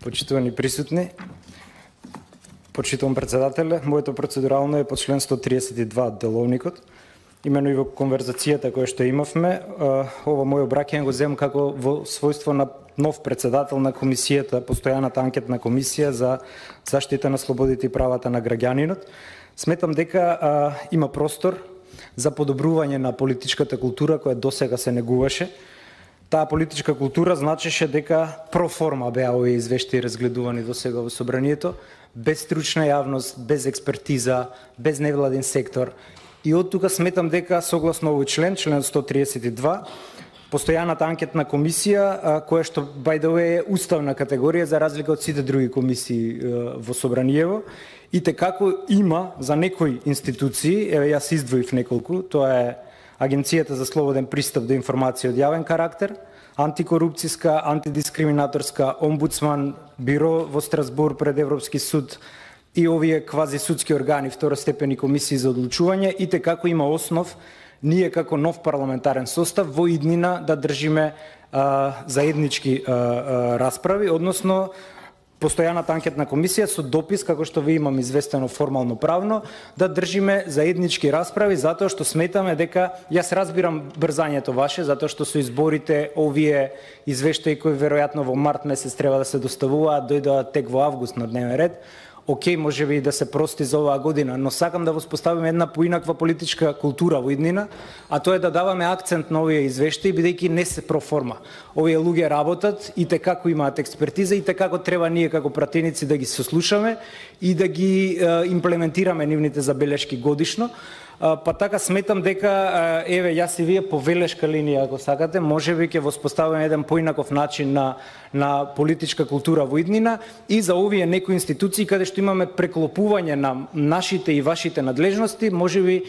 Почитувани присутни, почитувам председателе, моето процедурално е по член 132 од Деловникот. Имено и во конверзацијата која што имавме, ова моје обраќање го земам како во својство на нов председател на комисијата, постојаната анкетна комисија за заштита на слободите и правата на граѓанинот. Сметам дека има простор за подобрување на политичката култура која досега се негуваше. Таа политичка култура значеше дека проформа беа овие извештаи разгледувани досега во собранието, без стручна јавност, без експертиза, без невладин сектор. И од тука сметам дека согласно овој член 132, постојаната анкетна комисија, која што by the way е уставна категорија за разлика од сите други комисии во собраниево, и текако има за некои институции, еве јас издвоив неколку, тоа е Агенцијата за слободен пристап до информација од јавен карактер, антикорупцијска, антидискриминаторска, омбудсман, биро во Страсбур пред Европски суд и овие квази судски органи, второстепени комисии за одлучување, и текако има основ ние како нов парламентарен состав во иднина да држиме заеднички расправи, односно постојаната анкетна комисија со допис, како што ви имам известено формално правно, да држиме заеднички расправи, затоа што сметаме дека, јас разбирам брзањето ваше, затоа што со изборите овие извештаи кои веројатно во март месец треба да се доставуваат, дојдоа тек во август на дневен ред. Океј, може би да се прости за оваа година, но сакам да воспоставиме една поинаква политичка култура во иднина, а тоа е да даваме акцент на овие извештаи, бидејќи не се проформа. Овие луѓе работат и текако имаат експертиза и текако треба ние како пратеници да ги сослушаме и да ги имплементираме нивните забелешки годишно. Па така сметам дека, еве, јас и вие по велешка линија, ако сакате, можеби ќе воспоставиме еден поинаков начин на политичка култура во иднина и за овие некои институции каде што имаме преклопување на нашите и вашите надлежности, можеби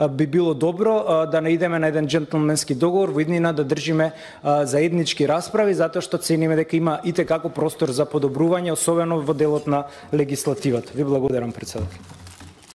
би било добро да наидеме на еден джентлменски договор во иднина да држиме заеднички расправи, затоа што цениме дека има и текако простор за подобрување, особено во делот на легислативата. Ви благодарам, председател.